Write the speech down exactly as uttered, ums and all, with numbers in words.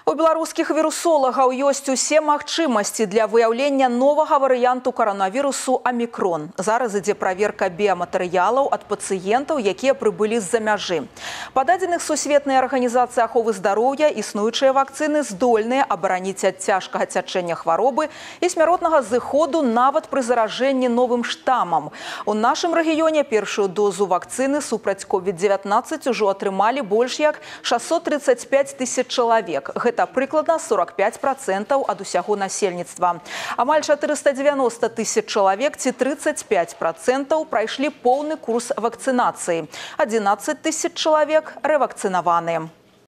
У беларускіх вірусолагаў ёсць усе магчымасці для выяўлення новага варыянту каранавірусу омікрон. Зараз ідзе праверка біяматэрыялаў ад пацыентаў, якія прыбылі з-за мяжы. Па дадзеных Сусветнай арганізацыі аховы здароўя існуючыя вакцыны здольныя абараніць ад цяжкага цячэння хваробы і смяротнага зыходу нават пры заражэнні новым штамам. У нашым рэгіёне першую дозу вакцыны супраць ковід дзевятнаццаць ужо атрымалі больш як шэсцьсот трыццаць пяць тысяч чалавек. Гэта прыкладна сорок пяць працэнтаў ад усяго насельніцтва. Амаль чатырыста дзевяноста тысяч чалавек ці трыццаць пяць працэнтаў прайшлі поўны курс вакцынацыі. адзінаццаць тысяч чалавек рэвакцынаваны.